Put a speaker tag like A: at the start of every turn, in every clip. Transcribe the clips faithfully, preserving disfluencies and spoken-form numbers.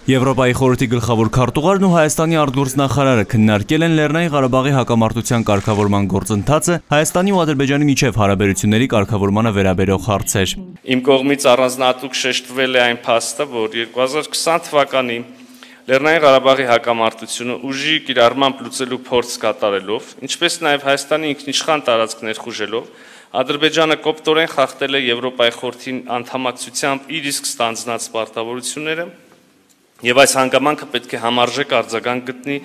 A: Եվրոպայի խորհրդի գլխավոր քարտուղարն ու Հայաստանի արտգործնախարարը քննարկել են Լեռնային Ղարաբաղի հակամարտության կարգավորման գործընթացը, Հայաստանի ու Ադրբեջանի միջև հարաբերությունների կարգավորմանը վերաբերող հարցեր։
B: Իմ կողմից առանձնահատուկ շեշտվել է այն փաստը, որ երկու հազար քսան թվականին Լեռնային Ղարաբաղի հակամարտությունը ուժի կիրառմամբ լուծելու փորձ կատարելով, ինչպես նաև Հայաստանի ինքնիշխան տարածք ներխուժելով, Ադրբեջանը կոպտորեն խախտել է Եվրոպայի խորհրդի անդամակցությամբ իր իսկ ստանձնած պարտավորությունները, եւ այս հանգամանքը պետք է համարժեք արձագանք գտնի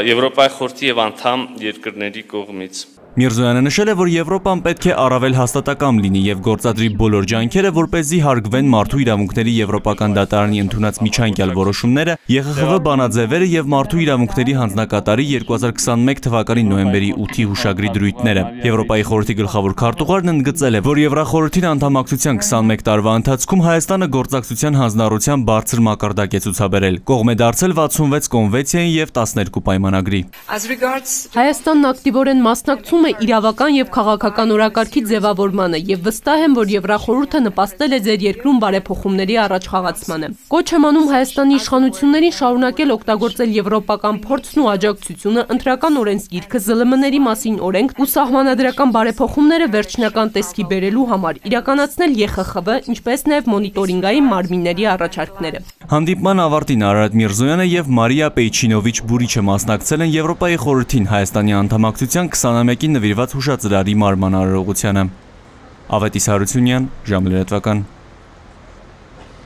B: Եվրոպայի խորհրդի եւ անդամ երկրների կողմից։
A: Միրզոյանը նշել է, որ Եվրոպան պետք է առավել հաստատակամ լինի եւ գործադրի բոլոր ջանքերը, որպեսզի հարգվեն մարդու իրավունքների Եվրոպական դատարանի ընդունած միջանկյալ որոշումները, ԵԽԽՎ բանաձևերը եւ մարդու իրավունքների հանձնակատարի երկու հազար քսանմեկ թվականի նոյեմբերի ութի հուշագրի դրույթները։ Եվրոպայի խորհրդի գլխավոր քարտուղարն ընդգծել է, որ Եվրախորհրդին անդամակցության քսանմեկ տարվա ընթացքում Հայաստանը գործակցության հանձնառության բարձր մակարդակ է ցուցաբերել։ Կողմ է դարձել վաթսունվեց կոնվենցիային եւ տասներկու պայմանագրի։
C: Հայաստանն ակտիվորեն մասնակցում իրավական եւ քաղաքական օրակարգի ձևավորմանը եւ վստահ եմ, որ Եվրախորհուրդը նպաստել է ձեր երկրում բարեփոխումների առաջխաղացմանը։ Կոչ եմ անում Հայաստանի իշխանություններին շարունակել օգտագործել եվրոպական փորձն ու աջակցությունը, ընտրական օրենսգիրքը, ԶԼՄ-ների մասին օրենք ու սահմանադրական բարեփոխումները վերջնական տեսքի բերելու համար, իրականացնել ԵԽԽՎ, ինչպես նաեւ մոնիտորինգային մարմինների առաջարկները։
A: Հանդիպման ավարտին Արարատ Միրզոյանը եւ Մարիա Պեյչինովիչ Բուրիչը մասնակցել են Եվրոպայի խորհրդին Հայաստանի անդամակցության քսանամյակին նվիրված հուշածրարի մարման արարողությանը։ Ավետ Իսահարությունյան, ժամը լրատվական։